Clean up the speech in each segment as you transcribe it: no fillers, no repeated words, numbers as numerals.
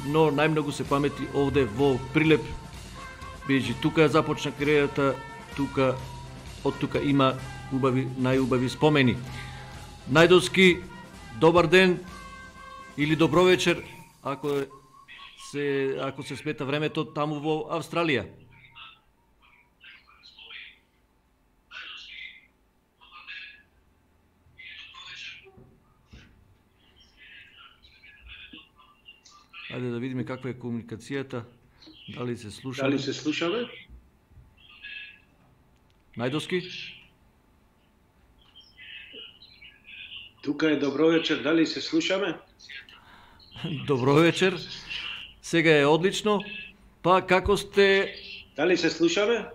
но најмногу се памети овде во Прилеп, бидејќи тука започна кариерата, од тука има најубави спомени. Најдовски, добар ден или добро вечер, ако се смета времето таму во Австралија. Ајде да видиме каква е комуникацијата. Дали се слушаме? Најдовски? Тука е добро вечер, дали се слушаме? Добро вечер. Сега е одлично. Па како сте? Дали се слушаме?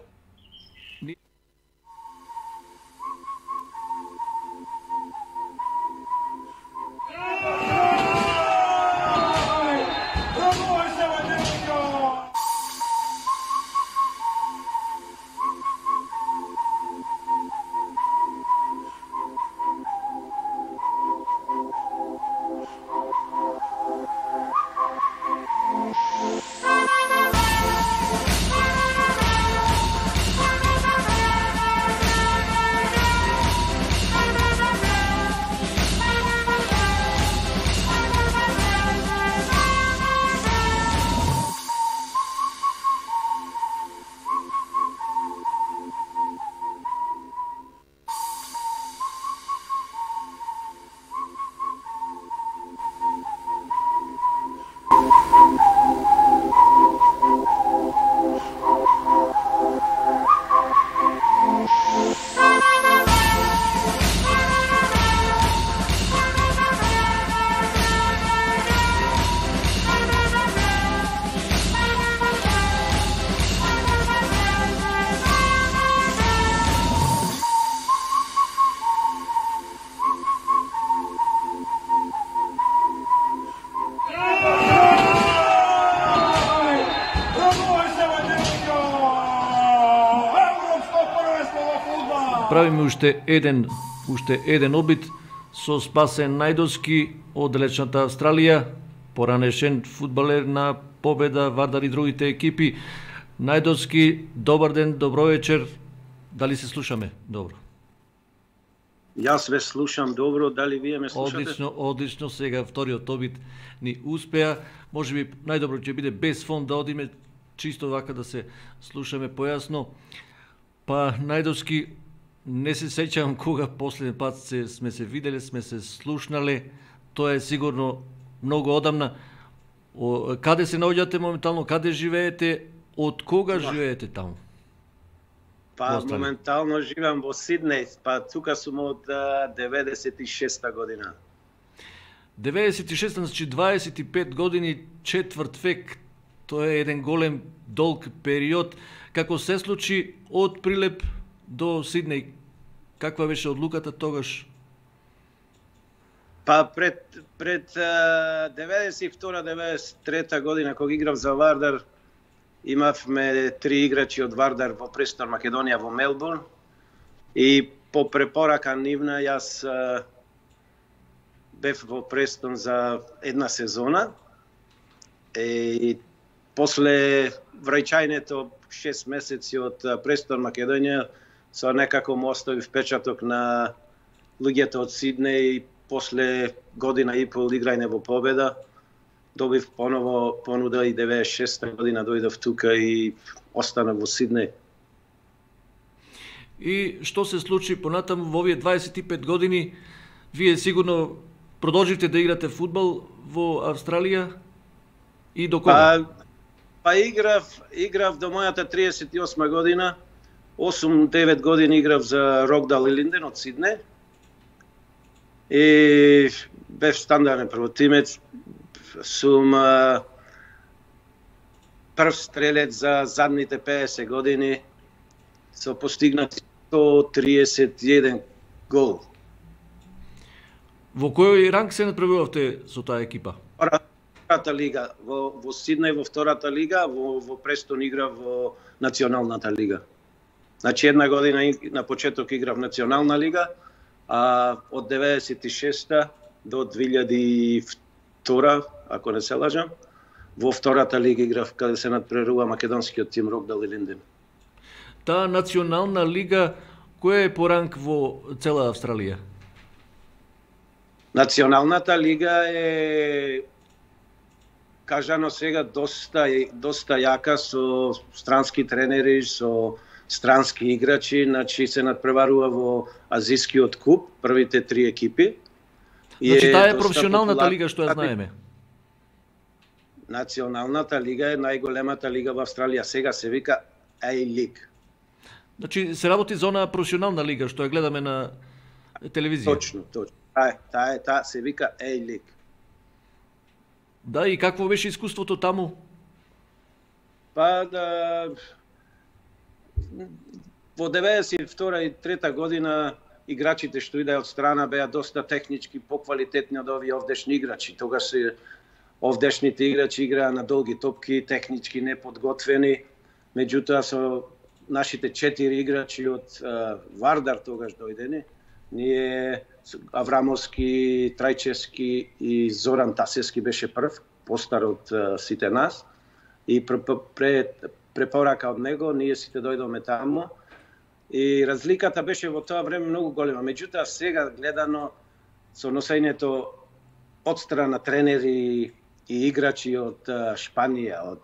Правиме уште еден обид со Спасен Најдовски од далечната Австралија, поранешен фудбалер на Победа, Вардар и другите екипи. Најдовски, добар ден, добро вечер. Дали се слушаме? Добро. Јас ве слушам добро, дали вие ме слушате? Одлично, сега вториот обид ни успеа. Можеби најдобро ќе биде без фон да одиме чисто вака да се слушаме појасно. Па Најдовски, не се сеќавам кога последен пат сме се виделе, сме се слушнале. Тоа е сигурно многу одамна. Каде се наоѓате моментално, каде живеете, од кога живеете таму? Па моментално живеам во Сиднеј, па тука сум од 96-та година. 96-та, значи 25 години, четврт век. Тоа е еден голем, долг период. Како се случи од Прилеп до Сиднеј? Каква беше одлуката тогаш? Па пред 92-93 година кога играв за Вардар, имавме 3 играчи од Вардар во Престон Македонија во Мелбурн и по препорака нивна јас бев во Престон за една сезона и после враќањето 6 месеци од Престон Македонија со некако му остави впечаток на луѓето од Сиднеј и после година и пол играње во Победа добив поново понуда и 96-та година дојдов тука и останав во Сиднеј. И што се случи понатаму во овие 25 години? Вие сигурно продолживте да играте фудбал во Австралија и до кога? Па играв до мојата 38 година. 8-9 години играв за Рокдал и Линден од Сиднеј. И бев стандарден првотимец. Сум прв стрелец за задните 50 години со постигнати 131 гол. Во кој ранг се натпревувавте со таа екипа? Втората лига. Во Сиднеј во втората лига, во Престон играв во националната лига. Значи една година на почеток играв национална лига, а од 96-та до 2002, ако не се лажам, во втората лига играв каде се надпреварува македонскиот тим Рокдал и Линден. Таа национална лига која е по ранг во цела Австралија? Националната лига е кажано сега доста јака со странски тренери, со странски играчи, значи се надпреварува во Азискиот куп, првите 3 екипи. Значи таа е професионалната лига што ја знаеме. Националната лига е најголемата лига во Австралија, сега се вика A-League. Значи се работи за онаа професионална лига што ја гледаме на телевизија. Точно. Таа се вика A-League. Да, и какво беше искуството таму? Па во 92 и 3 година играчите што идеа од страна беа доста технички поквалитетни од овие овдешни играчи. Тогаш овдешните играчи играа на долги топки, технички неподготвени. Меѓутоа со нашите 4 играчи од Вардар тогаш дојдени, ние Аврамовски, Трајчевски и Зоран Тасевски беше прв, постар од сите нас. И препорака од него, ние сите дојдоме таму. И разликата беше во тоа време многу голема. Меѓутоа сега гледано со носењето од страна тренери и играчи од Шпанија,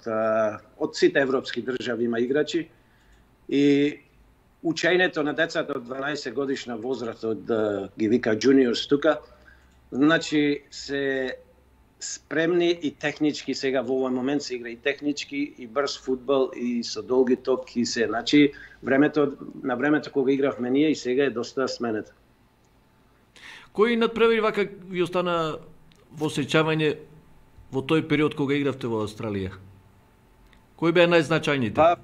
од сите европски држави има играчи. И учењето на децата од 12 годишна возраст, од ги вика juniors тука, значи се спремни и технички, сега во овој момент се игра и технички, и брз фудбал, и со долги топки се. Значи, на времето кога игравме ние и сега е доста сменето. Кои надпревари вака ви остана во сеќавање во тој период кога игравте во Австралија? Кои беа најзначајните?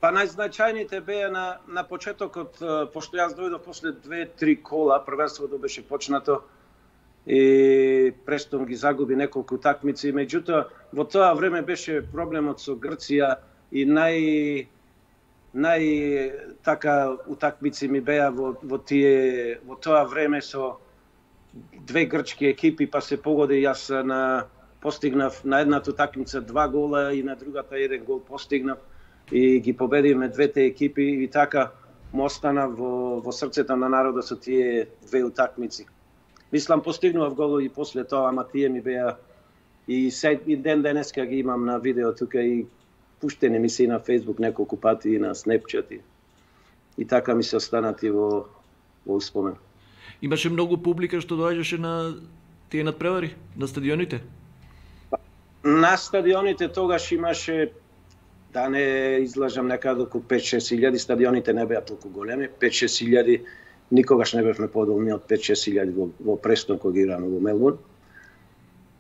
Па најзначајните беа на почетокот, пошто јас дојдов после 2-3 кола, првенството беше почнато и Престон ги загуби неколку такмици, меѓутоа во тоа време беше проблемот со Грција и нај така утакмици ми беа во тоа време со 2 грчки екипи, па се погоди, јас постигнав на едната такмица 2 гола и на другата 1 гол постигнав и ги победивме двете екипи и така му остана во срцето на народот со тие 2 утакмици. Мислам, постигнував гол и после тоа, ама тие ми беа и ден денеска ги имам на видео тука и пуштени ми се и на Facebook неколку пати и на Snapchat и така ми се останати во успомен. Имаше многу публика што доаѓаше на тие надпревари, на стадионите? На стадионите тогаш имаше, да не излажам, некаде околу 5-6 илјади, стадионите не беа толку големи, 5-6 илјади, никогаш не бевме подолни од 5-6 илјади во Престон кога играме во Мелбурн.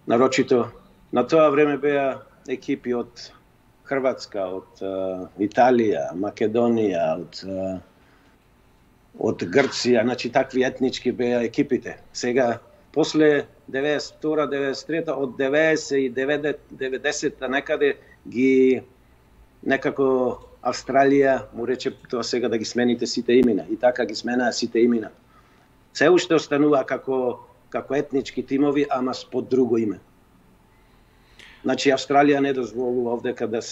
Нарочито, на тоа време беа екипи од Хрватска, од Италија, Македонија, од Грција, значи такви етнички беа екипите. Сега, после 92-93, од 90-та некаде ги некако Австралија му рече тоа сега да ги смените сите имена и така ги сменаа сите имена. Се уште останува како етнички тимови, ама под друго име. Значи Австралија не дозволува овдека да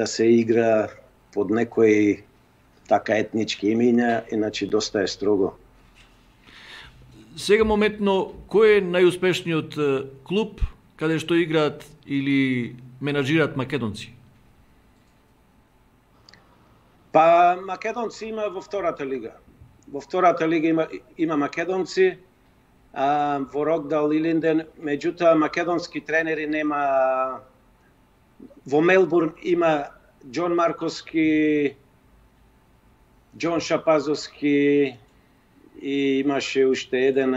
се игра под некои така етнички имена, иначе доста е строго. Сега моментно, кој е најуспешниот клуб каде што играат или менаџираат македонци? Па македонци има во втората лига. Во втората лига има македонци, во Рокдал и Линден, меѓутоа македонски тренери нема. Во Мелбурн има Џон Марковски, Џон Шапазовски и имаше уште еден,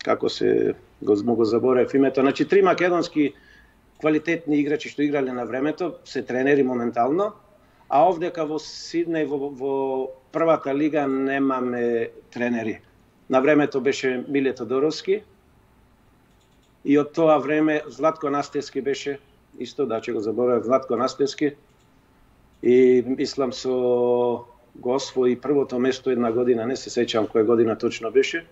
како се го заборев името. Значи 3 македонски квалитетни играчи што играле на времето, се тренери моментално, а овдека во Сиднеј во првата лига немаме тренери. На времето беше Миле Тодоровски и од тоа време Златко Настевски беше, исто да ќе го заборев, Златко Настевски, и мислам со го освои првото место една година, не се сеќавам која година точно беше.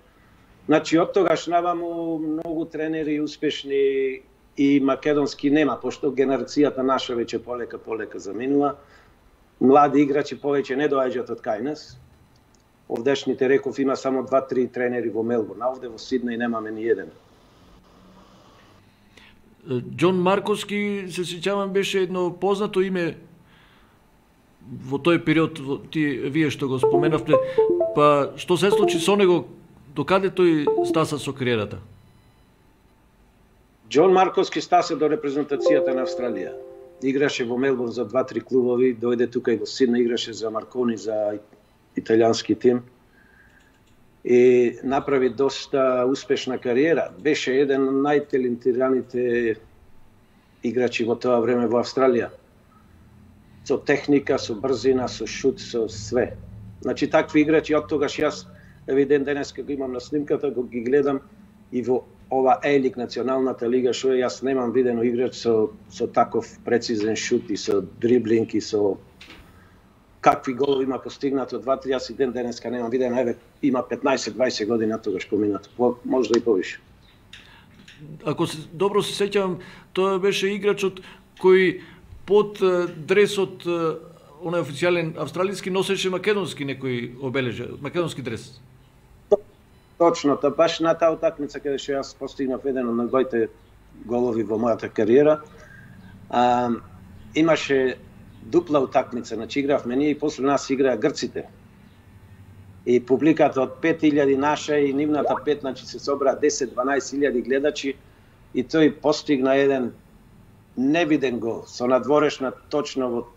Значи од тогаш наваму многу тренери успешни и македонски нема, пошто генерацијата наша веќе полека заминува. Млади играчи повеќе не доаѓаат од кај нас. Овдешните, реков, има само 2-3 тренери во Мелбурн, а овде во Сиднеј немаме ни еден. Џон Марковски, се сеќавам, беше едно познато име во тој период, вие што го споменавте, па што се случи со него, докаде тој стаса со кариерата? Џон Марковски стаса до репрезентацијата на Австралија. Играше во Мелбурн за 2-3 клубови, дојде тука и во Сиднеј, играше за Маркони, за италијански тим. И направи доста успешна кариера. Беше еден од најталентираните играчи во тоа време во Австралија. Со техника, со брзина, со шут, со све. Значи, такви играчи, од тогаш јас, евиден денес, како имам на снимката, го ги гледам и во ова Елик, националната лига, што јас немам видено играч со таков прецизен шут и со дриблинг и со какви голови има постигнато 2-3, јас и ден денеска немам видено, еве има 15-20 години тогаш поминато, можда и повише. Ако добро се сеќавам, тоа беше играчот кој под дресот, онај официјален австралиски, носеше македонски некој обележа, македонски дрес. Точно, баш на таа утакмица каде што јас постигнав еден од најголемите голови во мојата кариера, имаше дупла утакмица, значи игравме ние и после нас играа грците. И публиката од 5000 наша и нивната 5, значи се собра 10-12 гледачи и тој постигна еден невиден гол со надворешна точно во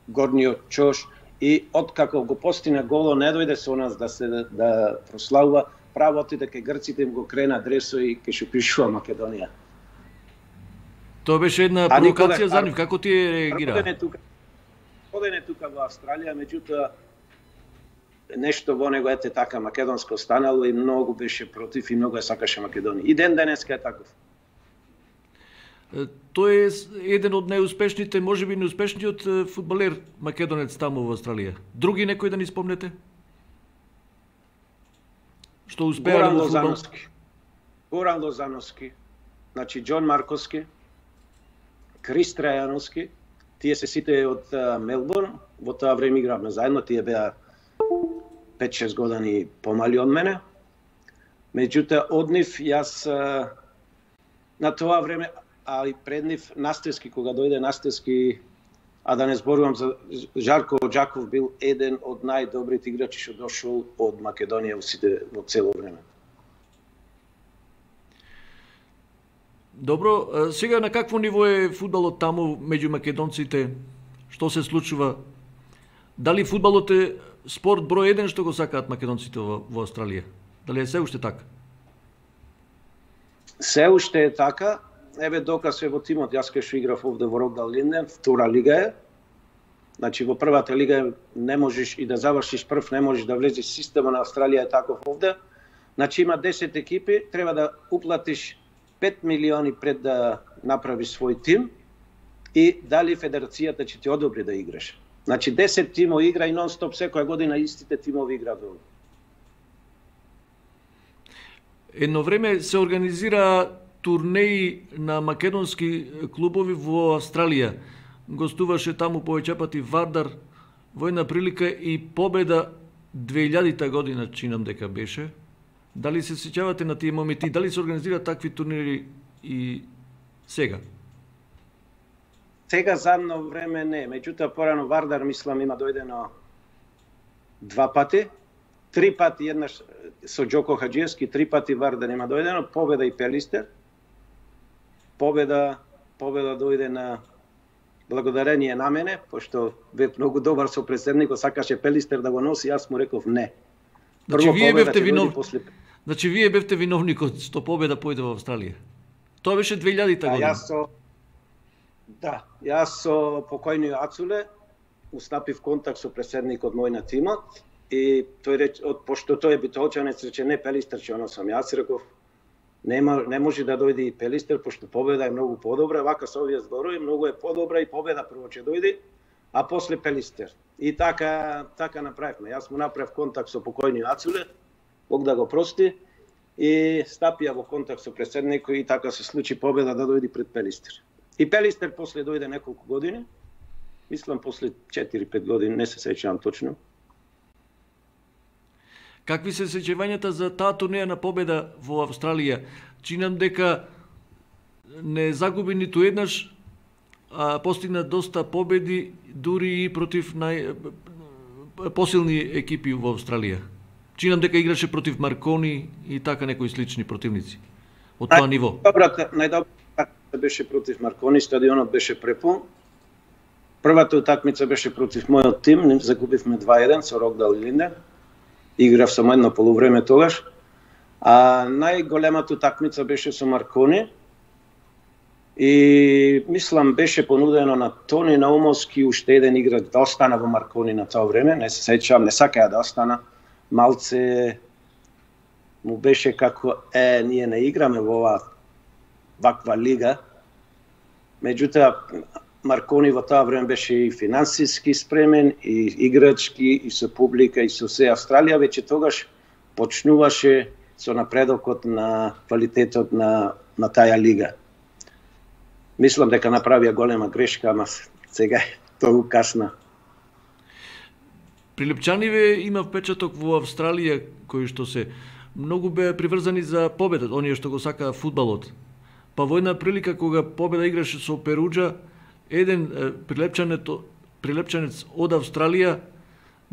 горниот чош и откако го постигна голо не дојде со нас да прославува, право отиде кај грците, им го крена дресо и ќе што пишува Македонија. Тоа беше една провокација за нив, како ти реагира? Оден е тука во Австралија, меѓутоа нешто во него ете така македонско останало и многу беше против и многу ја сакаше Македонија. И ден денеска е таков. Тој е еден од најуспешните, можеби најуспешниот фудбалер македонец таму во Австралија. Други некој да ни спомнете? Што успеа во фудбал? Горан Лозановски, значи Џон Марковски, Крис Трајановски, тие се сите од Мелбурн, во тоа време игравме заедно, тие беа 5-6 години помали од мене. Меѓутоа, од нив јас на тоа време, а и пред нив Настевски, кога дојде Настевски, а да не зборувам за Жарко Оџаков, бил еден од најдобрите играчи што дошол од Македонија во цело време. Добро, сега на какво ниво е фудбалот таму меѓу македонците? Што се случува? Дали фудбалот е спорт број 1 што го сакаат македонците во Австралија? Дали е се уште така? Се уште е така. Еве доказ е во тимот, јас кај што играв овде во Рокдал Линден, втора лига е. Значи во првата лига не можеш и да завршиш прв, не можеш да влезеш. Системот на Австралија е таков овде. Значи има 10 екипи, треба да уплатиш 5 милиони пред да направиш свој тим и дали федерацијата ќе ти одобри да играш. Значи 10 тимови игра и нон-стоп секоја година истите тимови играат. Едно време се организира турнеи на македонски клубови во Австралија. Гостуваше таму повеќе пати Вардар, во една прилика и победа 2000-та година, чинам дека беше. Дали се сеќавате на тие моменти? Дали се организираат такви турнири и сега? Сега задно време не, меѓутоа порано Вардар мислам има дојдено 2 пати, 3 пати еднаш со Џоко Хаџиевски, 3 пати Вардар има дојдено, победа и Пелистер. Победа дојде на благодарение на мене, пошто бев многу добар со председникот, сакаше Пелистер да го носи, јас му реков не. Значи вие бевте виновник. Значи вие бевте виновникот што победа појде во Австралија. Тоа беше 2000-та година. Јас со покојниот Ацуле устапив контакт со председникот мој на тимот и тој рече, пошто тој е битолчанец, рече не Пелистер ќе носам. Јас реков не може да дојде и Пелистер, пошто победа е многу подобра, вака со овие зборови многу е подобра и победа прво ќе дојде, а после Пелистер. И така направивме. Јас му направив контакт со покојниот Ацуле, Бог да го прости, и стапија во контакт со претседникот и така се случи победа да дојде пред Пелистер. И Пелистер после дојде неколку години, мислам после 4-5 години, не се сеќавам точно. Какви се сеќавањата за таа турнеја на победа во Австралија? Чинам дека не загуби ниту еднаш, а постигна доста победи дури и против посилни екипи во Австралија. Чинам дека играше против Маркони и така некои слични противници од тоа ниво. Најдобрата беше против Маркони, стадионот беше препун. Првата утакмица беше против мојот тим, загубивме 2-1 со Рокдал и Линден. Играв само едно полувреме тогаш. А најголемата утакмица беше со Маркони. И мислам беше понудено на Тони Наумовски уште еден играч да остана во Маркони на тоа време, не се сеќавам, не сакаја да остана. Малце му беше како ние не играме во ваква лига. Меѓутоа Маркони во тоа време беше и финансиски спремен, и играчки, и со публика, и со се. Австралија веќе тогаш почнуваше со напредокот на квалитетот на таа лига. Мислам дека направија голема грешка, ама сега тоа касна. Прилепчаниве има впечаток во Австралија кои што се многу беа приврзани за победата, оние што го сакаа фудбалот. Па во една прилика кога победа играше со Перуџа, еден прилепчанец од Австралија,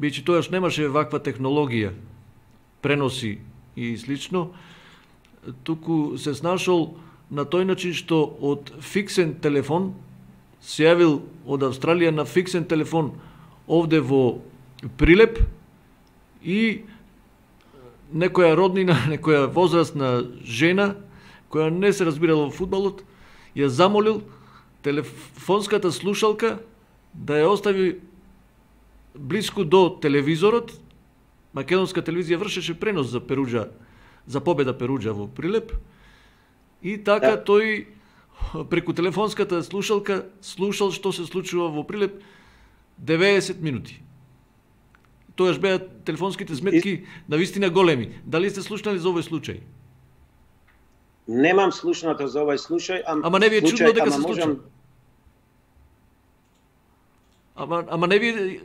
бидејќи тоаш немаше ваква технологија, преноси и слично, туку се снашол на тој начин што од фиксен телефон се јавил од Австралија на фиксен телефон овде во Прилеп и некоја роднина, некоја возрастна жена која не се разбирала во фудбалот, ја замолил телефонската слушалка да ја остави блиску до телевизорот. Македонска телевизија вршеше пренос за Перуџа, за победа Перуџа во Прилеп. И така тој преку телефонската слушалка слушал што се случува во Прилеп 90 минути. Тоаш беа телефонските сметки навистина големи. Дали сте слушнали за овој случај? Немам слушнато за овој случај, ама не ви е чудно дека се случи. Ама не ви е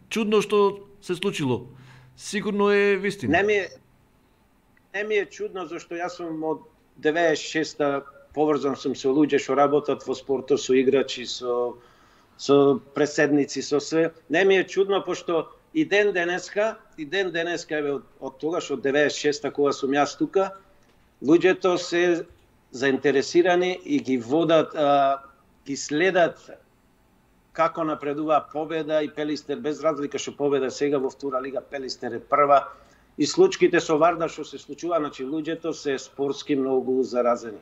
чудно што се случило. Сигурно е вистина. Не ми е чудно зашто јас сум од 96-та поврзан сум со луѓе што работат во спортот, со играчи, со преседници, со све. Не ми е чудно пошто и ден денеска еве од тогаш од 96-та кога сум јас тука, луѓето се заинтересирани и ги водат, ги следат како напредува победа и Пелистер, без разлика што победа сега во втора лига, Пелистер е прва. И случките со Вардар што се случува, значи луѓето се спортски многу заразени.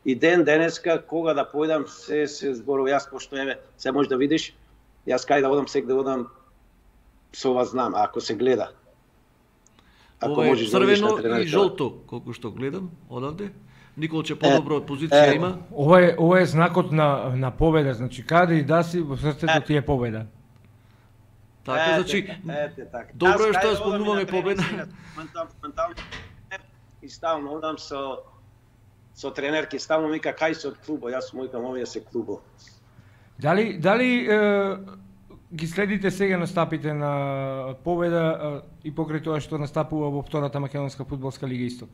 И ден денеска кога да појдам се зборува, јас пошто еве се може да видиш, јас кај да одам сега да одам со вас знам, ако се гледа. Ако можеш да видиш на тренерот. И жолто, колку што гледам одавде. Николче подобро позиција има. Ова е знакот на победа, значи каде и да си во срцето ти е победа. Така, значи, добро е што ја спомнуваме победа. И ставно одам со тренерки, ставно мика кај се од клубо, јас му викам овие се клубо. Дали ги следите сега настапите на победа и покрај тоа што настапува во втората македонска фудбалска лига Исток?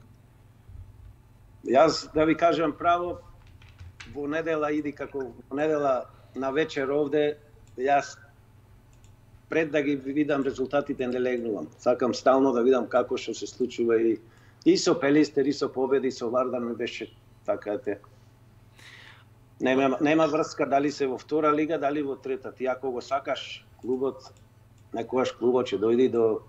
Јас да ви кажам право, во недела иди како во недела на вечер овде, јас пред да ги видам резултатите не легнувам. Сакам стално да видам како што се случува и со Пелистер, и со победи, и со Вардар ми беше така те. Нема врска дали се во втора лига, дали во трета. Ти ако го сакаш клубот, некогаш клубот ќе дојде до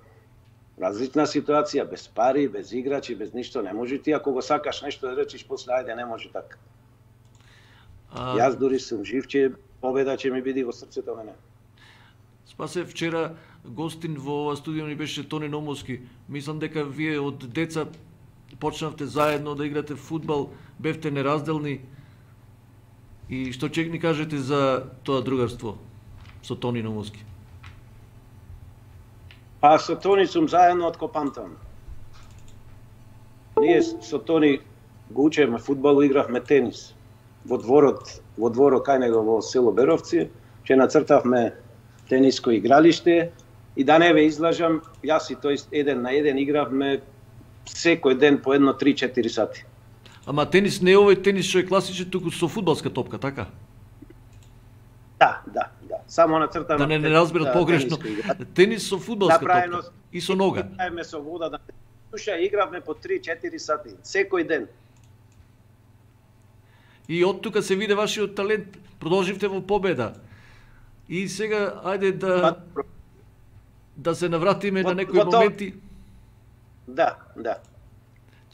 различна ситуација, без пари, без играчи, без ништо. Не може ти ако го сакаш нешто да речиш после ајде, не може така. Јас дури сум жив, че победа ќе ми биде во срцето мене. Спасе, вчера гостин во ова студио ни беше Тони Наумовски. Мислам дека вие од деца почнавте заедно да играте фудбал, бевте неразделни. И што ќе ни кажете за тоа другарство со Тони Наумовски? Па со Тони сум заедно од ко памтам. ние со Тони го учевме фудбал, игравме тенис. Во дворот кај него во село Беровци, ќе нацртавме тениско игралиште и да не ве излажам, јас и тој еден на еден игравме секој ден по 1-3-4 сати. Ама тенис не е овој тенис што е класичен, туку со фудбалска топка, така? Да. Само нацртано. Да не разберат погрешно. Тенис со фудбалска топка и со нога. Игравме со вода, да душа, игравме по 3-4 сати, секој ден. И од тука се виде вашиот талент, продолживте во победа. И сега, ајде да се навратиме на некои моменти. Да.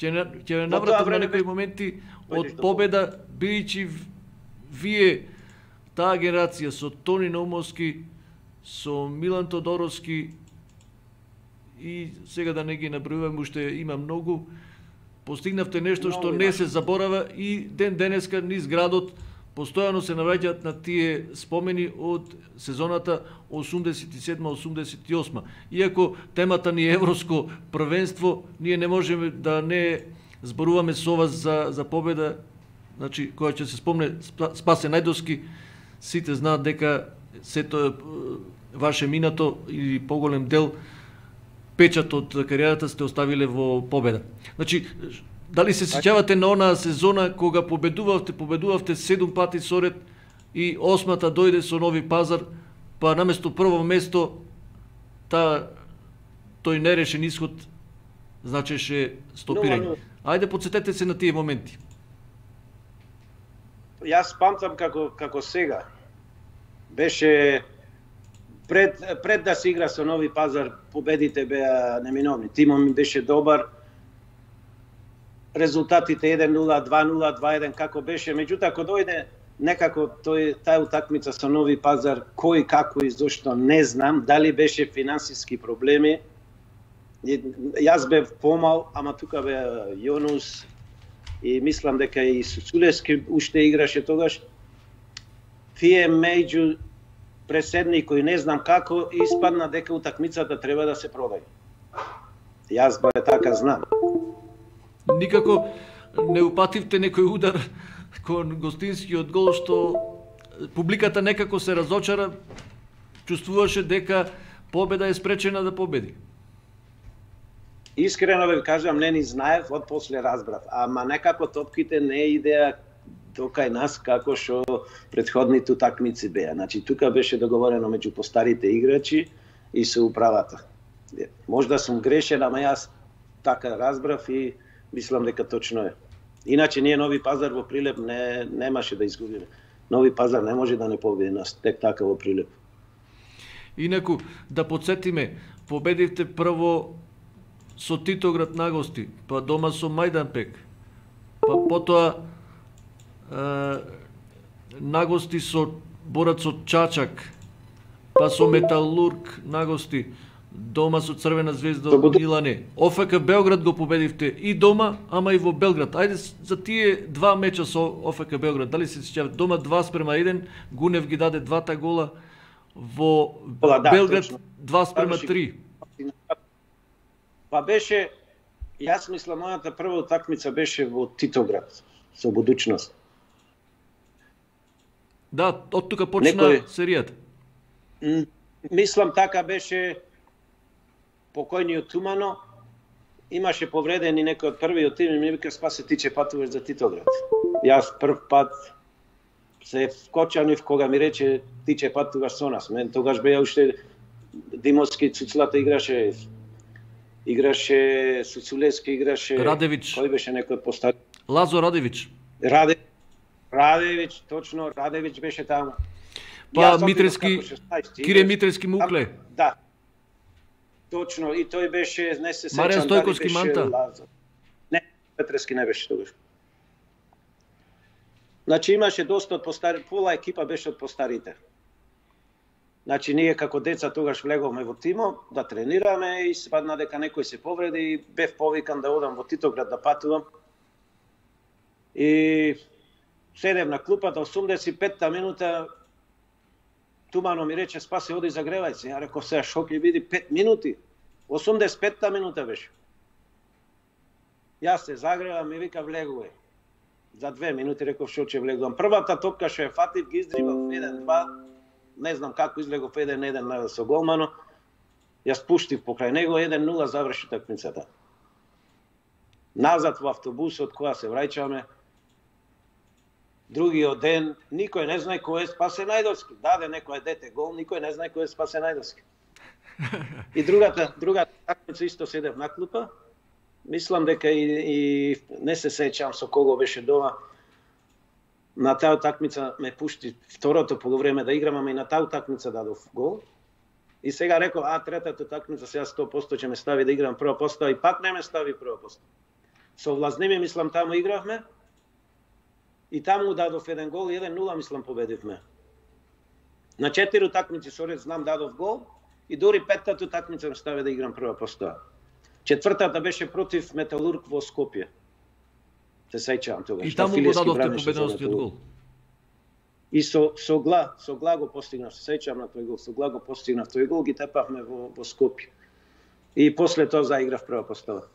Ќе навратиме на некои моменти од победа, бидејќи вие, таа генерација со Тони Наумовски, со Милан Тодоровски и сега да не ги набројувам, уште има многу, постигнавте нешто што не се заборава и ден денеска низ градот постојано се навраќаат на тие спомени од сезоната 87-88. Иако темата ни е Европско првенство, ние не можеме да не зборуваме со вас за победа, значи која ќе се спомне Спасе Најдовски. Сите знаат дека сето е ваше минато или поголем дел печат од кариерата сте оставиле во победа. Значи, дали се сеќавате на онаа сезона кога победувавте 7 пати соред и 8-та дојде со Нови Пазар, па наместо прво место тој нерешен исход значеше стопирање. Ајде подсетете се на тие моменти. Јас памтам како сега. Беше пред да се игра со Нови Пазар, победите беа неминовни. Тимот ми беше добар. Резултатите 1-0, 2-0, 2-1 како беше, меѓутоа кога дојде некако таа утакмица со Нови Пазар, кој како и зошто не знам, дали беше финансиски проблеми. Јас бев помал, ама тука беа Јонус и мислам дека и Суцулевски уште играше тогаш. Тие меѓу преседни кои не знам како испадна дека утакмицата треба да се продаде. Јас бе така знам. Никако не упативте некој удар кон гостинскиот гол што публиката некако се разочара, чувствуваше дека победа е спречена да победи. Искрено ве кажам, не ни знаев, од после разбрав, ама некако топките не идеа кај нас како што претходните утакмици беа. Значи тука беше договорено меѓу постарите играчи и со управата. Можда сум грешен, ама јас така разбрав и мислам дека точно е. Иначе ние Нови Пазар во Прилеп немаше да изгубиме. Нови Пазар не може да не победи нас тек така во Прилеп. Инаку да подсетиме, победивте прво со Титоград на гости, па дома со Мајданпек, па потоа на гости со Борацот Чачак, па со Металург на гости, дома со Црвена звезда од Милане. ОФК Белград го победивте и дома, ама и во Белград. Ајде за тие два меча со ОФК Белград, дали се сеќавате? Дома 2:1, Гунев ги даде двата гола, во Белград 2:3. Па беше, јас мислам, мојата прва утакмица беше во Титоград, со Будучност. Да, од тука почна серијата. Мислам така беше покојниот Тумано, имаше повредени некој од првиот тим и ми вика Спасе ти ќе патуваш за Титоград. Јас прв пат се вкочанив кога ми рече ти ќе патуваш со нас. Мен тогаш беа уште Димовски, Цуцлата играше Суцулевски, играше Радевич. Кој беше некој од постари? Лазо Радевич. Радевич, точно, Радевич беше таму. Па Митрески, Кире Митрески Мукле. Да. Точно, и тој беше, не се сеќам. Маријан Стојковски Манта. Не, Митрески не беше тогаш. Значи имаше доста од постари, пола екипа беше од постарите. Значи ние како деца тогаш влеговме во тимо да тренираме и спадна дека некој се повреди и бев повикан да одам во Титоград да патувам. И седев на клупата, 85-та минута Тумано ми рече Спасе оди загревај се. Ја реков сега шо ќе биде 5 минути. 85-та минута беше. Јас се загревам и вика влегувај. За 2 минути реков што ќе влегувам. Првата топка што ја фатив ги издрибав 1-2. Не знам како излегов 1-1 со голмано. Јас пуштив покрај него 1-0 заврши такмицата. Назад во автобусот кога се враќаме. Другиот ден никој не знае кој е Спасе Најдовски. Даде некој дете гол, никој не знае кој е Спасе Најдовски. И другата такмица исто седев на клупа. Мислам дека и не се сеќам со кого беше дома. На таа такмица ме пушти второто полувреме да играм, ама и на таа такмица дадов гол. И сега реков, третата такмица сега 100% ќе ме стави да играм прва постава и пак не ме стави прва постава. Со Влазними мислам таму игравме. И таму дадов еден гол, 1-0 мислам победивме. На 4 такмици со ред знам дадов гол и дури петтата такмица ме стави да играм прва постава. Четвртата беше против Металург во Скопје. Се сеќавам тогаш. И таму го дадовте победеносниот гол. И со гла го постигнав, се сеќавам на тој гол, со гла го постигнав тој гол, ги тепавме во Скопје. И после тоа заиграв прва постава.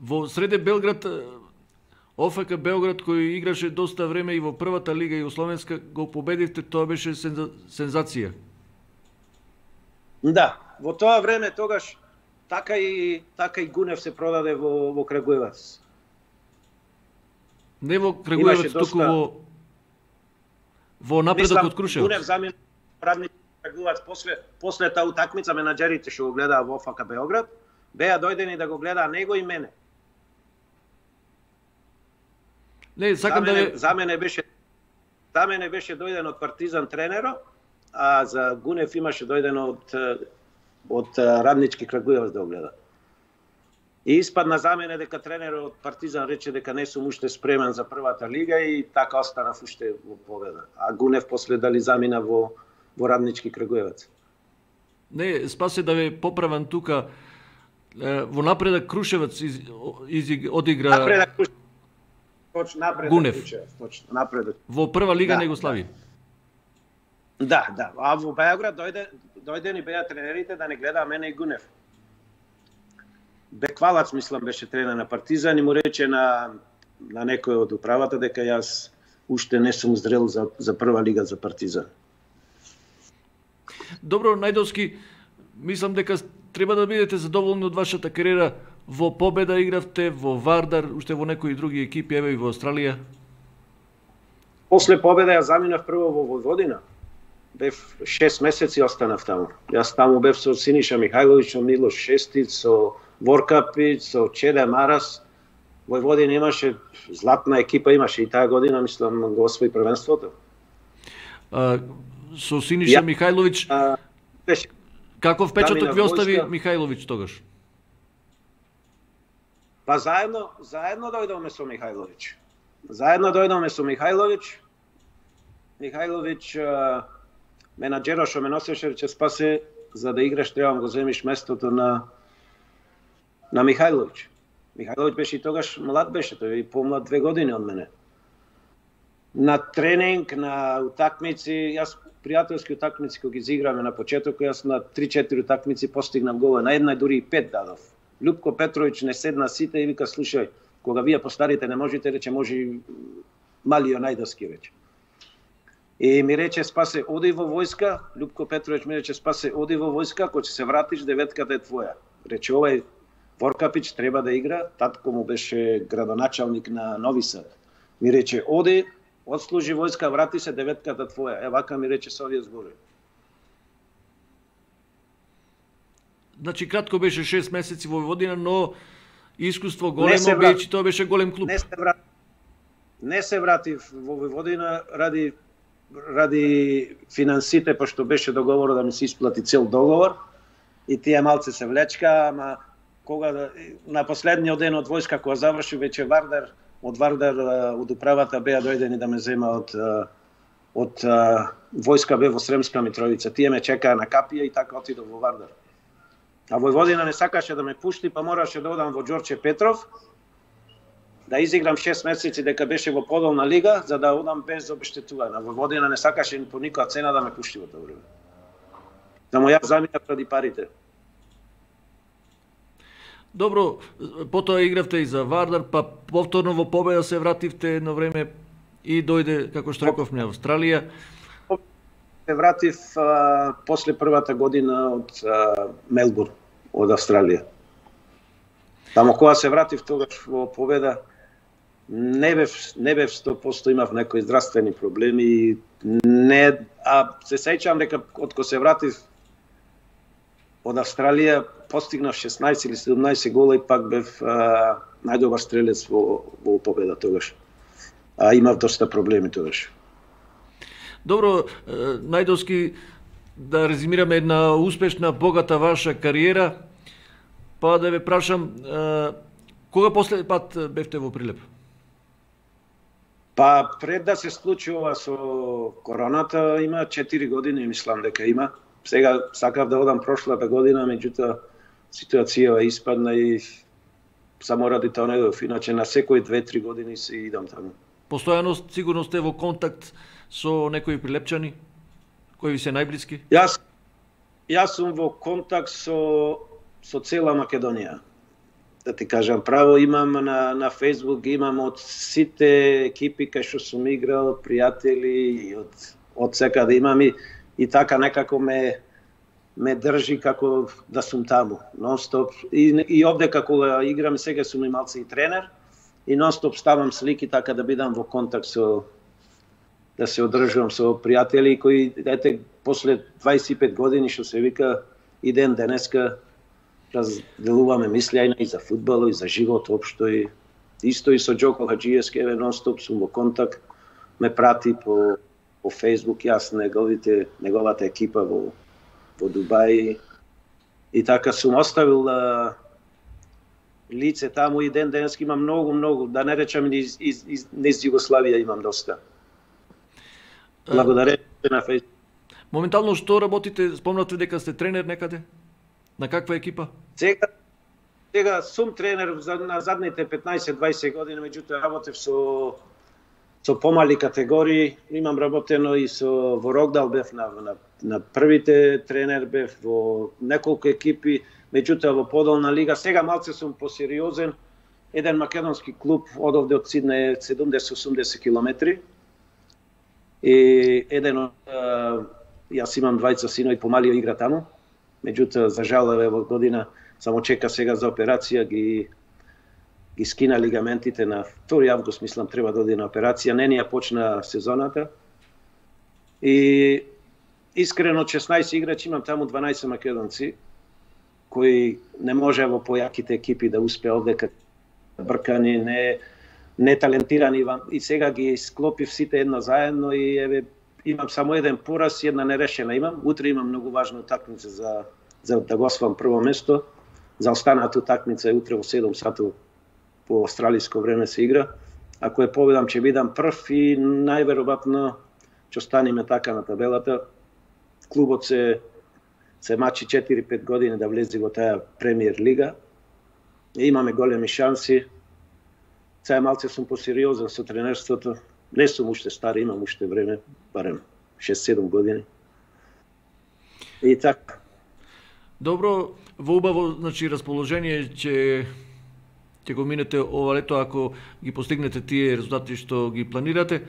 Во Среде Белград, ОФК Белград кој играше доста време и во првата лига југословенска го победивте, тоа беше сензација. Да, во тоа време тогаш така и Гунев се продаде во Крагуевац. Не во Крагуевац, туку во Напредок од Крушевац. Гунев замена Раднички Крагуевац после таа утакмица менаџерите што го гледаа во ОФК Белград, беа дојдени да го гледаа него и мене. Не, сакам за мене беше дојден од Партизан тренеро, а за Гунев имаше дојдено од Раднички Крагуевац да го гледа. И испадна за мене дека тренерот од Партизан рече дека не сум уште спремен за првата лига и така останав уште во победа. А Гунев после дали замина во Раднички Крагуевац. Не, Спасе да ве поправам тука, во Напредок Крушевац одигра Напредок Крушевац. Точно, Напредок Гунев. Крушевац, точно, Напредок. Во прва лига не го слави. Да. А во Београд дојдени беа тренерите да не гледаа мене и Гунев. Беквалац, мислам, беше тренер на Партизан и му рече на некој од управата дека јас уште не сум зрел за прва лига за Партизан. Добро, Најдовски, мислам дека треба да бидете задоволни од вашата кариера. Во Победа игравте, во Вардар, уште во некои други екипи, еве и во Австралија. После Победа ја заминав прво во Војводина. Бев 6 месеци останав таму. Јас таму бев со Синиша Михајловиќ, со Милош Шестиц, со Воркапиć, со Чеде Марас. Војводина имаше златна екипа, имаше и таа година, мислам, го освои првенството. Со Синиша Михајловиќ, каков печаток ви остави Михајловиќ тогаш? Па заедно дојдовме со Михајловиќ. Михајловиќ менаџерот што ме носеше рече Спасе, за да играш треба да го земиш местото на Михајловиќ. Михајловиќ беше и тогаш млад беше, тој е помлад 2 години од мене. На тренинг, на утакмици, јас пријателски утакмици кои ги изиграме на почетокот, јас на 3-4 утакмици постигнав голови, на една дури и 5 дадов. Љупко Петровиќ не седна сите и вика слушај, кога вие постарите не можете, рече може и Малио Најдовски рече. И ми рече Спасе, оди во војска, Љупко Петровиќ ми рече Спасе, оди во војска, кога ќе се вратиш, деветката е твоја. Рече овај Воркапиć треба да игра, татко му беше градоначалник на Нови Сад. Ми рече оди, отслужи војска, врати се, деветката твоја. Вака ми рече со овие зборови. Значи кратко беше 6 месеци во Војводина, но искуство големо беше, тоа беше голем клуб. Не се вратив во Војводина ради финансите, пошто беше договорот да ми се исплати цел договор и тие малце се влечка, ама кога на последниот ден од војска кога заврши веќе од Вардар од управата беа дојдени да ме зема од војска бе во Сремска Митровица. Тие ме чекаа на Капија и така отидов во Вардар. А Војводина не сакаше да ме пушти, па мораше да одам во Ѓорче Петров, да изиграм 6 месеци дека беше во подолна лига, за да одам без обештетување. А Војводина не сакаше по никоја цена да ме пушти во тоа време. Само јас заминав ради парите. Добро, потоа игравте и за Вардар, па повторно во победа се вративте едно време и дојде, како што рековме, Австралија. Се вратив после првата година од Мелбурн, од Австралија. Тамо кога се вратив тогаш во победа, не бев 100%, имав некои здравствени проблеми, се сеќавам дека од кога се вратив од Австралија постигнав 16 или 17 гола и пак бев најдобар стрелец во победа тогаш. Имав доста проблеми тогаш. Добро, Најдовски, да резимираме една успешна, богата ваша кариера, па да ве прашам, кога последен пат бевте во Прилеп? Па пред да се случи ова со короната, има 4 години, мислам дека има. Сега сакав да одам прошлата година, меѓутоа ситуацијава испадна и само ради тоа не дојдов. Иначе на секои 2-3 години се идам таму. Постојано сигурно сте во контакт со некои прилепчани кои ви се најблиски? Јас сум во контакт со цела Македонија. Да ти кажам право, имам на Facebook, имам од сите екипи кај што сум играл, пријатели и од секаде имам и така некако ме држи како да сум таму, нон-стоп. И овде како играм, сега сум и малце и тренер, и нон-стоп ставам слики така да бидам во контакт да се одржувам со пријатели кои, ете, после 25 години, што се вика, и ден денеска, разделуваме мислења и за фудбал, и за живот општо, и исто и со Џоко Хаџиевски, нон-стоп сум во контакт, ме прати по Facebook, јас неговата екипа во Дубај, и така сум оставил лице таму и ден денеска имам многу, да не речам низ Југославија имам доста. Благодарение на Facebook. Моментално што работите? Спомнате дека сте тренер некаде? На каква екипа? Сега сум тренер на задните 15-20 години, меѓутоа работев со помали категории. Имам работено и во Рокдал бев на првите тренер, бев во неколку екипи, меѓутоа во подолна лига. Сега малце сум посериозен. Еден македонски клуб од овде од Сиднеј 70-80 километри. И јас имам двајца синови, помалио игра таму. Меѓутоа, за жал, во година само чека сега за операција, ги скина лигаментите на 2 август, мислам, треба да оди на операција. Не ни ја почна сезоната. И искрено 16 играчи, имам таму 12 македонци, кои не може во појаките екипи да успеа овде бркани, не талентирани, и сега ги склопив сите едно заедно и имам само еден пораз и една нерешена имам. Утре имам многу важна утакмица за да го освоам прво место. За останата утакмица е утре во 7 сату по австралиско време се игра. Ако ја победам, ќе бидам прв и најверојатно ќе останеме така на табелата. Клубот се мачи 4-5 години да влезе во таа премиер лига. И имаме големи шанси. Сега малце сум посериозен со тренерството. Не сум уште стар, имам уште време, барем 6-7 години. И така. Добро, во убаво, значи, расположение ќе го минете ова лето ако ги постигнете тие резултати што ги планирате.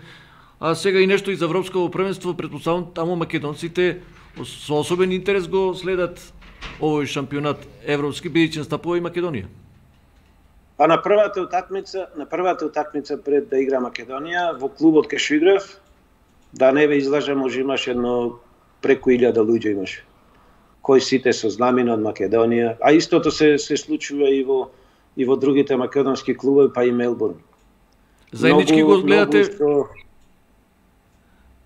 А сега и нешто и за Европско првенство, претпоставувам таму македонците со особен интерес го следат овој шампионат европски, бидејќи настапува и Македонија. А на првата утакмица пред да игра Македонија, во клубот кај што играв, да не ве излажам, може имаш едно преку 1000 луѓе имаш, кои сите со знамина од Македонија, а истото се случува и во другите македонски клубови, па и Мелбурн. Заеднички го гледате?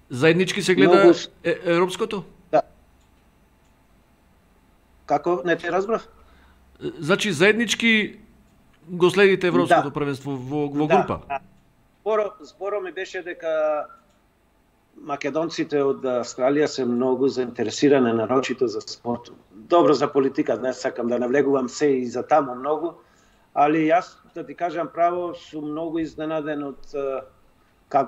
Заеднички се гледа европското? Да. Како? Не те разбрав? Значи заеднички го следите европското првенство во група? Да. Зборо ми беше дека македонците од Австралија се многу заинтересирани нарочито за спорт. Добро за политика, не сакам да навлегувам се и за таму многу, али јас, да ти кажам право, сум многу изненаден од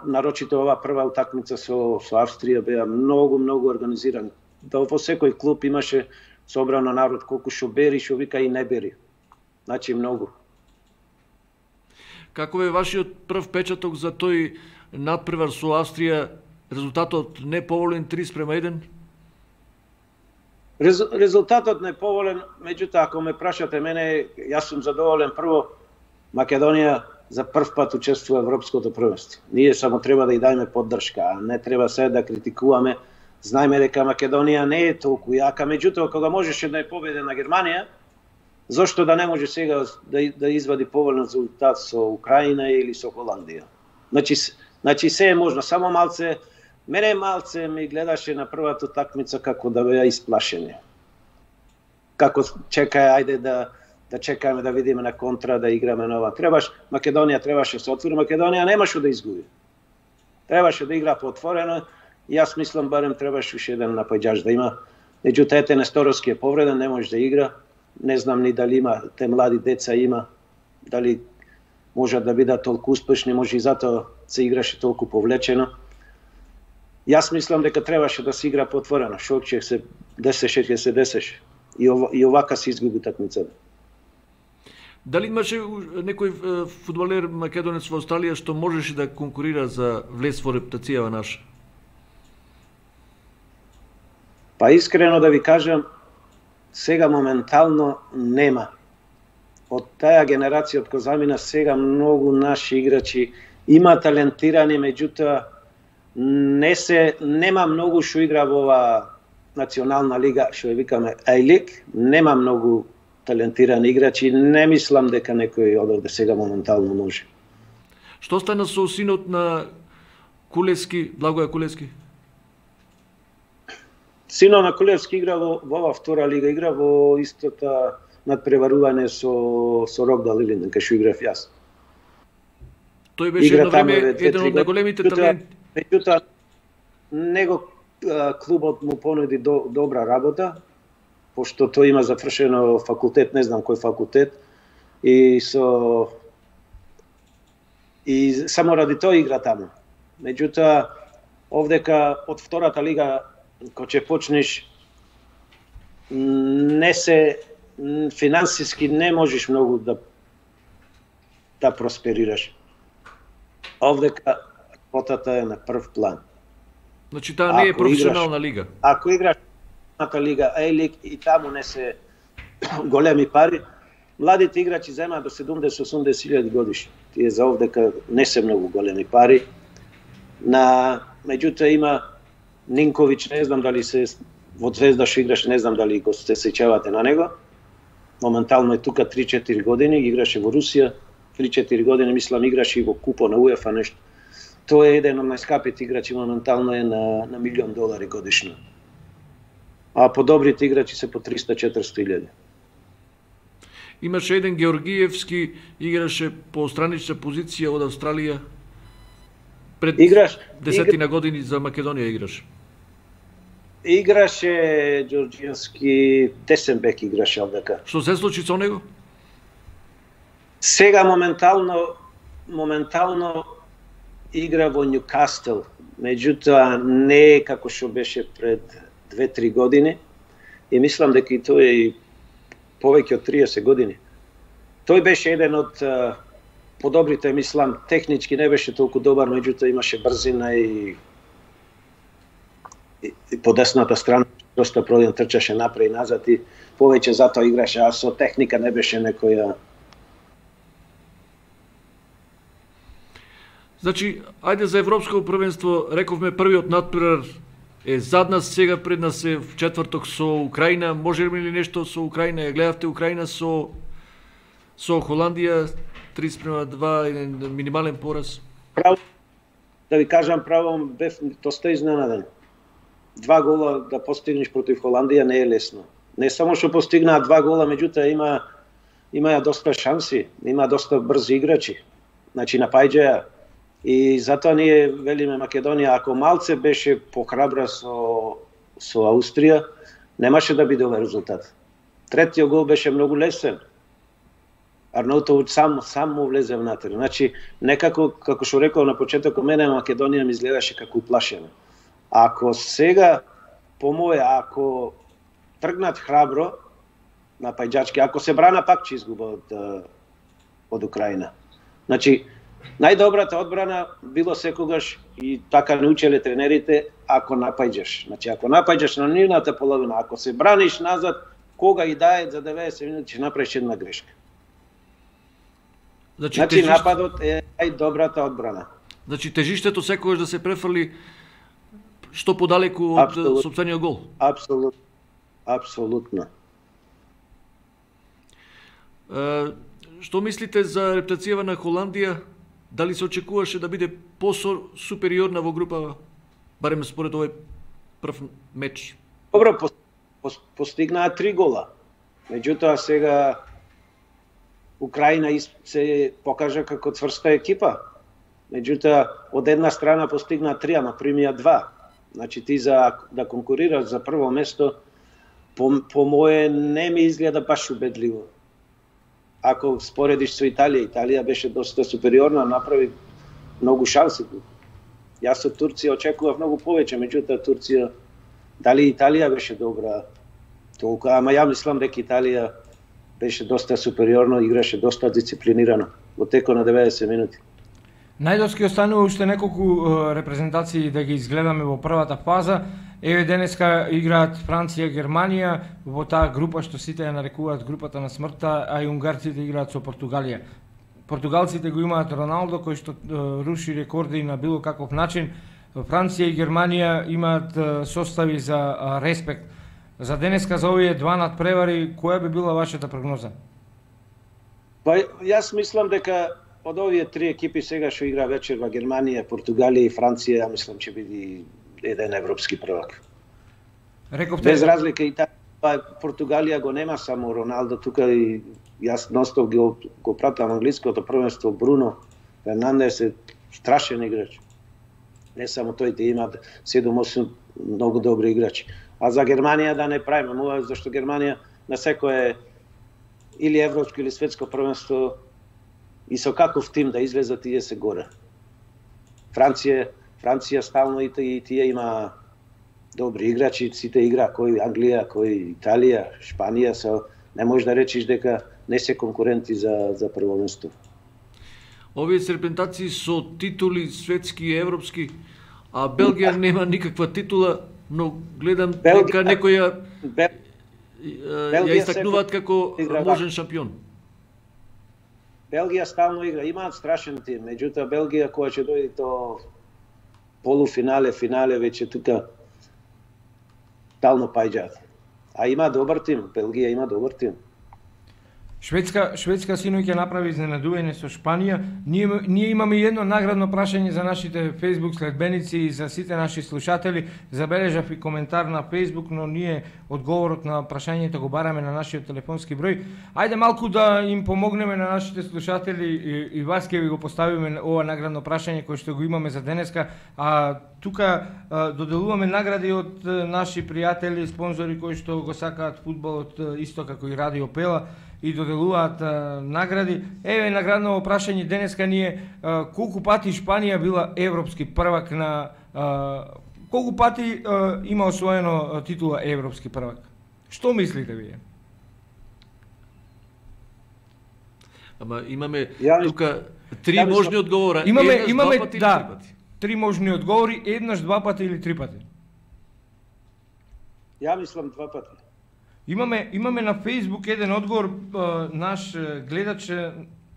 нарочито ова прва утакмица со Австрија беа многу организирани. Да во секој клуб имаше собрано народ колку што бери, што вика и не бери. Значи многу. Каков е вашиот прв печаток за тој надпревар со Австрија? Резултатот неповолен 3:1? Резултатот неповолен, меѓутоа ако ме прашате мене, јас сум задоволен. Прво, Македонија за прв пат учествува во Европското првенство. Ние само треба да ја дајме поддршка, а не треба се да критикуваме. Знаеме дека Македонија не е толку јака, меѓутоа кога можеше да ја победи на Германија, зошто да не може сега да извади поволен резултат со Украина или со Холандија? Значи се е можно, само малце. Мене малце ми гледаше на првата такмица како да беа исплашени. Како чекај, ајде да чекаме да видиме на контра, да играме нова. Македонија требаше се отвори, Македонија немаше да изгуби. Требаше да игра поотворено. Јас мислам барем требаше уште еден напаѓач да има. Меѓутоа ете Несторовски е повреден, не може да игра. Не знам ни дали има, те млади деца има, дали можат да бидат толку успешни, може и затоа се играше толку повлечено. Јас мислам дека требаше да се игра поотворено, што ќе се десеше, ќе се десеше. И овака се изгуби такмицата. Дали имаше некој фудбалер македонец во Австралија што можеше да конкурира за влез во репутацијава наша? Па искрено да ви кажам, сега моментално нема. Од таа генерација од Козамина сега многу наши играчи има талентирани, меѓутоа нема многу што игра во ова национална лига, што ја викаме A-League, нема многу талентирани играчи, не мислам дека некој од овде сега моментално може. Што стана со синот на Кулевски, Благоја Кулевски? Синот на Кулевски игра во ова втора лига, игра во истота надпреварување со Рокдал Илинден, кај што играв јас. Тој беше едно време еден од најголемите таленти. Меѓутоа, него клубот му понуди добра работа, пошто тој има завршено факултет, не знам кој факултет, и само ради тоа игра таму. Меѓутоа, овдека од втората лига, кога ќе почнеш, финансиски не можеш многу да просперираш. Овдека работата е на прв план. Значи таа не е професионална лига. Ако играш на лига A-League и таму не се големи пари, младите играчи земаат до 70-80 илјади годишно. Тие за овдека не се многу големи пари. Меѓутоа има Нинковиќ, не знам дали се во Звезда што играше, не знам дали го се сеќавате на него. Моментално е тука 3-4 години, играше во Русија, 3-4 години, мислам, играше и во купо на УЕФА нешто. Тој е еден од најскапите играчи, моментално е на $1 милион годишно. А подобрите играчи се по 300-400 илјади. Имаше еден Георгиевски, играше по странична позиција од Австралија. Пред десетина години за Македонија играше. Играше Ѓорѓиевски, десен бек играше овдека. Што се случи со него? Сега моментално игра во Ньюкасл, меѓутоа не е како што беше пред 2-3 години и мислам дека и тој е повеќе од 30 години. Тој беше еден од подобрите, мислам, технички не беше толку добар, меѓутоа имаше брзина и по десната страна доста проден трчаше напред и назад и повеќе затоа играше, а со техника не беше некоја. Значи, ајде за Европско првенство, рековме првиот надпревар е зад нас, сега пред нас е в четврток со Украина. Може ли нешто со Украина? Ја гледавте Украина со Холандија 3:2, еден минимален пораз? Право, да ви кажам право, бев доста изненаден. 2 гола да постигнеш против Холандија не е лесно. Не само што постигнаа 2 гола, меѓутоа има доста шанси, има доста брзи играчи. Значи напаѓаја. И затоа ние велиме Македонија, ако малце беше похрабра со Австрија, немаше да биде овој резултат. Третиот гол беше многу лесен. Арнаутовиќ сам му влезе внатре. Значи, некако, како што рекол на почетокот, мене Македонија ми изгледаше како уплашена. Ако сега, по моје, ако тргнат храбро, напаѓачки. Ако се брана, пак ќе изгуба од Украина. Значи, најдобрата одбрана било секогаш и така научеле тренерите, ако напаѓаш. Значи, ако напаѓаш на нивната половина, ако се браниш назад, кога и дае за 90 минути ќе направиш една грешка. Значи нападот е најдобрата одбрана. Значи тежиштето секогаш да се префрли што подалеку од сопствениот гол. Апсолутно. Апсолутно. Што мислите за рептацијава на Холандија? Дали се очекуваше да биде по-супериорна во група, барем според овој прв меч? Добро, постигнаа 3 гола. Меѓутоа сега Украина се покажа како цврста екипа. Меѓутоа од една страна постигнаа 3, ама примија 2. Значи ти за да конкурираш за прво место по мое не ми изгледа баш убедливо. Ако споредиш со Италија, Италија беше доста супериорна, направи многу шанси. Јас од Турција очекував многу повеќе, меѓутоа Турција, дали Италија беше добра толку, ама ја мислам дека Италија беше доста супериорно, играше доста дисциплинирано во текот на 90 минути. Најдоски останува уште неколку репрезентации да ги изгледаме во првата фаза. Еве денеска играат Франција, Германија во таа група што сите ја нарекуваат групата на смртта, а и унгарците играат со Португалија. Португалците го имаат Роналдо кој што руши рекорди на било каков начин. Франција и Германија имаат состави за респект. За денеска за овие два надпревари, која би била вашата прогноза? Па јас мислам дека од овие 3 екипи сега што игра вечер во Германија, Португалија и Франција, ја мислам ќе биде еден европски првак. Рековте без разлика и Португалија го нема само Роналдо, тука и јас ностов го пратам англиското првенство. Бруно Фернандес е страшен играч. Не само тој, има 7-8 многу добри играчи. А за Германија да не правиме, зашто Германија на секое или европско или светско првенство и со каков тим да излезат тие се горе. Франција стално и тие има добри играчи, сите игра кој Англија, кој Италија, Шпанија, не можеш да речиш дека не се конкуренти за прво место. Овие серпентации со титули светски и европски, а Белгија нема никаква титула, но гледам дека некој ја истакнуваат како можен шампион. Белгија стално игра, имаат страшен тим, меѓутоа Белгија кога ќе дојде до полуфинале, финале, веќе тука стално паѓаат. А има добар тим, Белгија има добар тим. Шведска синоќа направи изненадување со Шпанија. Ние имаме едно наградно прашање за нашите Facebook следбеници и за сите наши слушатели. Забележав и коментар на Facebook, но ние одговорот на прашањето го бараме на нашиот телефонски број. Ајде малку да им помогнеме на нашите слушатели и вас ќе ви го поставиме ова наградно прашање кој што го имаме за денеска. А тука доделуваме награди од наши пријатели, спонзори кои што го сакаат фудбалот исто како и Радио Пела и доделуваат награди. Еве наградно прашање денеска ние, колку пати Шпанија била европски првак на колку пати има освоено титула европски првак? Што мислите вие? Ама имаме тука 3 можни одговора. Имаме 2 пати или 3 пати? 3 можни одговори, еднаш, 2 пати или 3 пати. Ја мислам 2 пати. Имаме на Facebook еден одговор, наш гледач,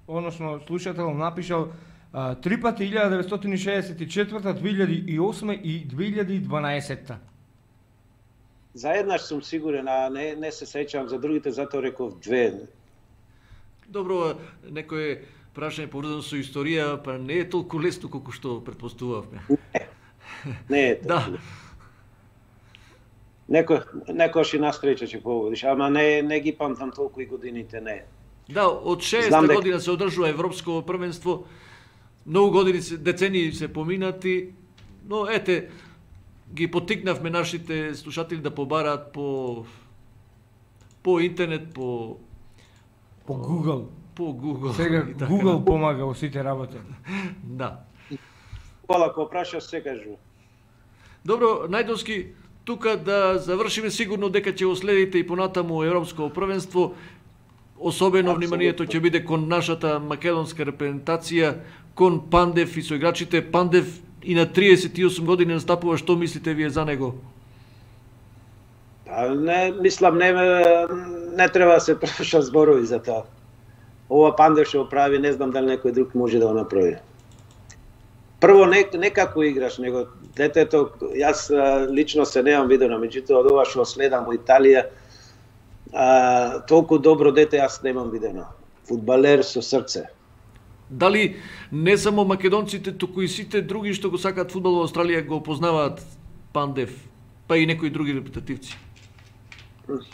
односно слушател напишал 3 пати 1964, 2008 и 2012. За еднаш сум сигурен, а не се сеќавам за другите, затоа реков 2. Добро, некој прашање поврзано со историја, па не е толку лесно колку што претпоставувавме. Не е толку. Да. Некојаш и настреча ќе погодиш, ама не ги памтам толку и годините, не. Да, од 60 година се одржува европско првенство, многу години, децении се поминати, но ете, ги поттикнавме нашите слушатели да побараат по интернет, по Google. По Google. Сега Google помага во сите работи. Да. Кола, ако прашаш, се кажу. Добро, Најдовски, тука да завршиме, сигурно дека ќе го следите и понатаму Европско првенство. Особено вниманието ќе биде кон нашата македонска репрезентација, кон Пандев и соиграчите. Пандев и на 38 години настапува, што мислите вие за него? Не, мислам, не треба да се трошат зборови за тоа. Ова Пандев што прави, не знам дали некој друг може да го направи. Прво, не како играш, него детето, јас лично се немам видено, меѓутоа од ова што следам во Италија, толку добро дете јас немам видено. Фудбалер со срце. Дали не само македонците, туку и сите други што го сакаат фудбал во Австралија го познаваат Пандев, па и некои други репрезентативци?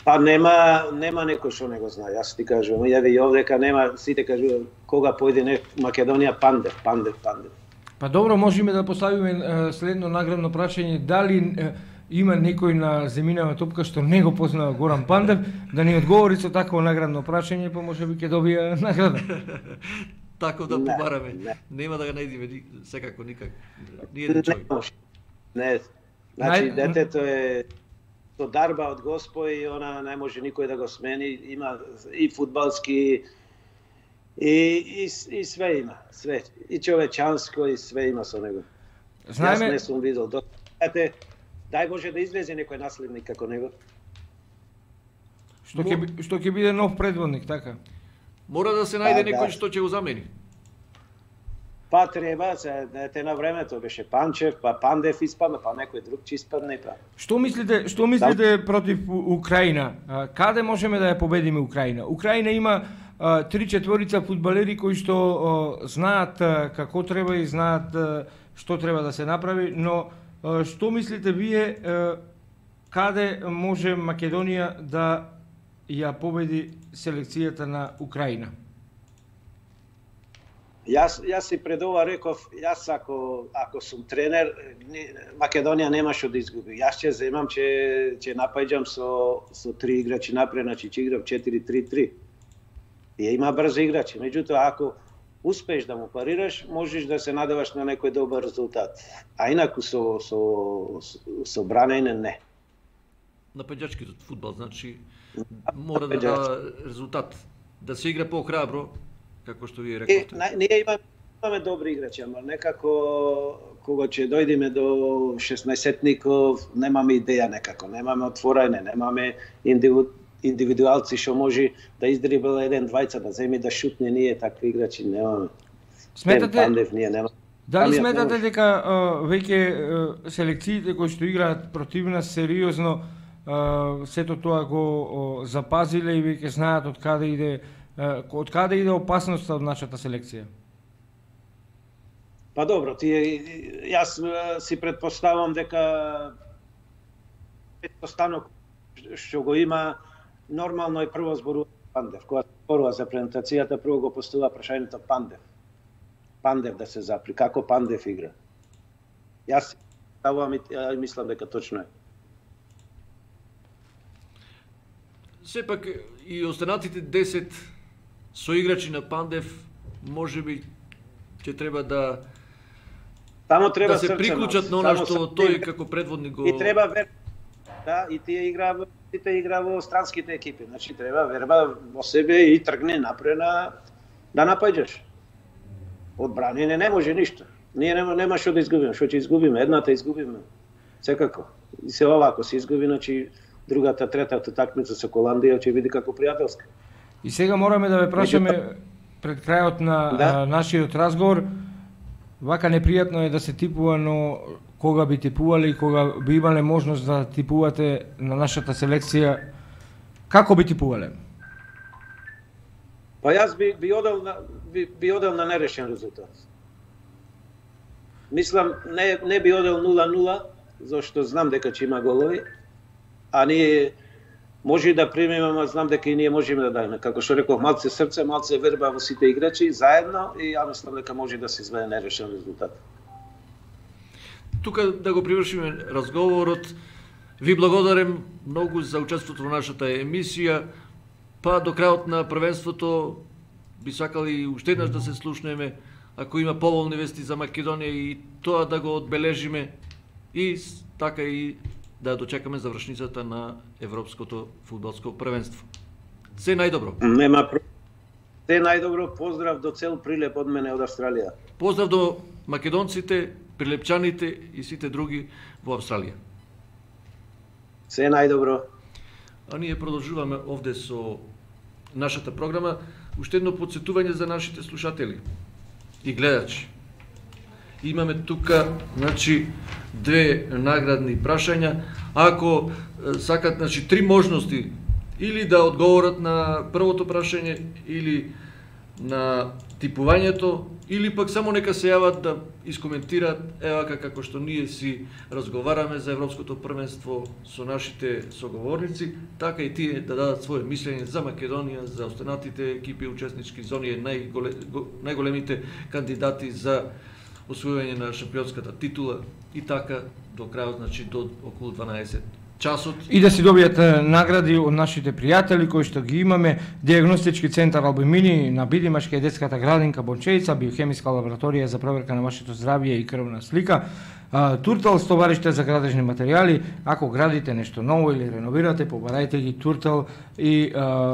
Па нема некој што не го знае, јас ти кажувам, јаве и овдека нема, сите кажуваат кога појде Македонија Пандев. Па добро, можеме да поставиме следно наградно прашање, дали има некој на земјинава топка што не го познава Горан Пандев, да ни одговори со такво наградно прашање, па можеби ќе добија награда. Тако да побараме. Нема да го најдиме секако никак. Ниједен човек. Не. Значи детето е со дарба од Господ и она не може никој да го смени, има и фудбалски и све има, све. И човечанско и све има со него. Знаеме... Јас не сум видел. Дај Боже да излезе некој наследник како него. Што ќе биде нов предводник, така? Мора да се најде некој што ќе го замени. Па треба, те на времето беше Панчев, па Пандев испадна, па некој друг ќе испадне, па. Што мислите против Украина? Каде можеме да ја победиме Украина? Украина има 3-4 фудбалери кои што знаат како треба и знаат што треба да се направи, но што мислите вие каде може Македонија да ја победи селекцијата на Украина? Јас си пред ова реков, јас ако сум тренер, Македонија нема што да изгуби. Јас ќе земам, ќе напаѓам со 3 играчи напред, значи ќе играм 4-3-3. И има брзи играчи, меѓутоа ако успееш да му парираш, можеш да се надеваш на некој добар резултат. А инаку со бранење не. Напаѓачки фудбал, значи мора да дава резултат, да се игра по-храбро, како што вие рековте. Ние имаме добри играчи, ама некако кога ќе дојдеме до 16-ников, немаме идеја некако, немаме отворање, немаме индивидуалци што може да издрибла еден двајца, да земи да шутне, ние такви играчи немаме. Дали сметате дека веќе селекциите кои што играат против нас сериозно сето тоа го запазиле и веќе знаат од каде иде опасноста од нашата селекција? Па добро, јас си предпоставам дека предпостанок што го има нормално е прво зборува Пандев. Кога зборува за презентацијата, прво го поставува прашањето Пандев. Пандев да се запри. Како Пандев игра? Јас ставувам и мислам дека точно е. Сепак и останатите 10 соиграчи на Пандев можеби ќе треба да се приклучат на она што тој како предводник го... И треба верба. Да, и тие игра во странските екипи. Значи треба верба во себе и тргне напред да напаѓаш. Од бранење не може ништо. Ние нема што да изгубиме. Што ќе изгубиме? Едната изгубиме. Секако. И се овако се изгуби, значи другата, третата такмица со Холандија ќе биде како пријателска. И сега мораме да ве прашаме пред крајот на нашиот разговор. Вака непријатно е да се типува, но кога би типувале и кога би имале можност да типувате на нашата селекција, како би типувале? Па јас би одел на нерешен резултат. Мислам, не би одел 0-0, зашто знам дека ќе има голови, а ние може да примеме, ама знам дека и ние можеме да дајме. Како што реков, малце срце, малце верба во сите играчи, заедно, и ја мислам дека може да се изведе нерешен резултат. Тука да го привршиме разговорот. Ви благодарам многу за учеството во нашата емисија. Па до крајот на првенството би сакали уште еднаш да се слушнеме, ако има поволни вести за Македонија, и тоа да го одбележиме и така и да дочекаме завршницата на Европското фудбалско првенство. Се најдобро. Нема се најдобро, поздрав до цел Прилеп од мене од Австралија. Поздрав до македонците, прилепчаните и сите други во Австралија. Се најдобро. А ние продолжуваме овде со нашата програма. Уште едно подсетување за нашите слушатели и гледачи. Имаме тука, значи, две наградни прашања. Ако сакат, значи, три можности, или да одговорат на првото прашање, или на типувањето, или пак само нека се јават да искоментираат, евака како што ние си разговараме за Европското првенство со нашите соговорници, така и тие да дадат своје мислење за Македонија, за останатите екипи учеснички зони, најголемите кандидати за освојување на шампионската титула и така до крајот, значи до околу 12 часот. И да си добијат награди од нашите пријатели кои што ги имаме: Диагностички центар Албумини на Бидимашка и детската градинка Бончеица, биохемиска лабораторија за проверка на вашето здравје и крвна слика, Туртал, стовариште за градежни материјали. Ако градите нешто ново или реновирате, побарајте ги Туртал и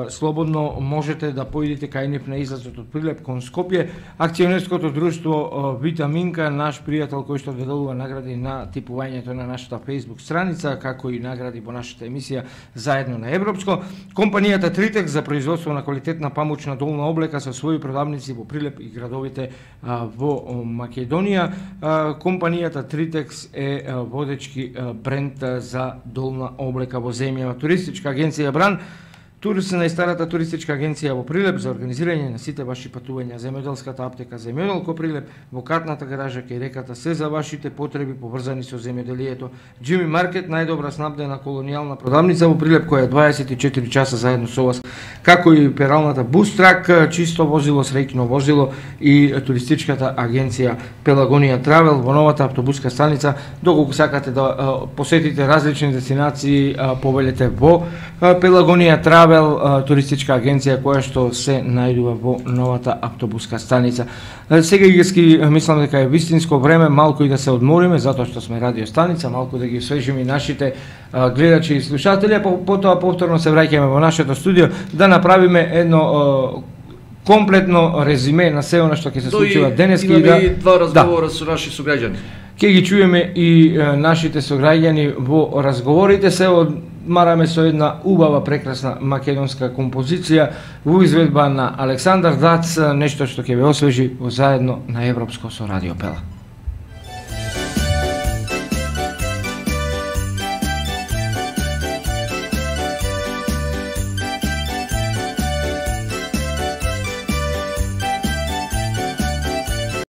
слободно можете да поидете кај нив на излазот од Прилеп кон Скопје. Акционерското друштво Витаминка, наш пријател кој што доделува награди на типувањето на нашата Facebook страница, како и награди во нашата емисија Заедно на Европско. Компанијата Тритекс за производство на квалитетна памучна долна облека со своји продавници во Прилеп и градовите во Македонија. Компанијата Тритекс е водечки бренд за долна облека во земјава. Туристичка агенција Бран, Турс најстарата туристичка агенција во Прилеп за организирање на сите ваши патувања. Земјоделската аптека Земјоделко Прилеп, во катната гаража кај реката, се за вашите потреби поврзани со земјоделието. Джими Маркет, најдобра снабдена колонијална продавница во Прилеп, која е 24 часа заедно со вас, како и пералната Бустрак, чисто возило, среќно возило, и туристичката агенција Пелагонија Травел во новата автобуска станица. Доколку сакате да посетите различни дестинации, повелете во Пелагонија Травел, туристичка агенција која што се најдува во новата автобуска станица. Сега ги мислам дека е вистинско време малку и да се одмориме, затоа што сме радио станица, малку да ги освежиме нашите гледачи и слушатели, а потоа повторно се враќаме во нашето студио да направиме едно комплетно резиме на се она што ќе се случува денес. Имаме и два разговора со наши сограѓани. Ќе ги чуеме и нашите сограѓани во разговорите. Се одмараме со една убава, прекрасна македонска композиција во изведба на Александар Дац, нешто што ќе ве освежи во Заедно на Европско со Радио Пела.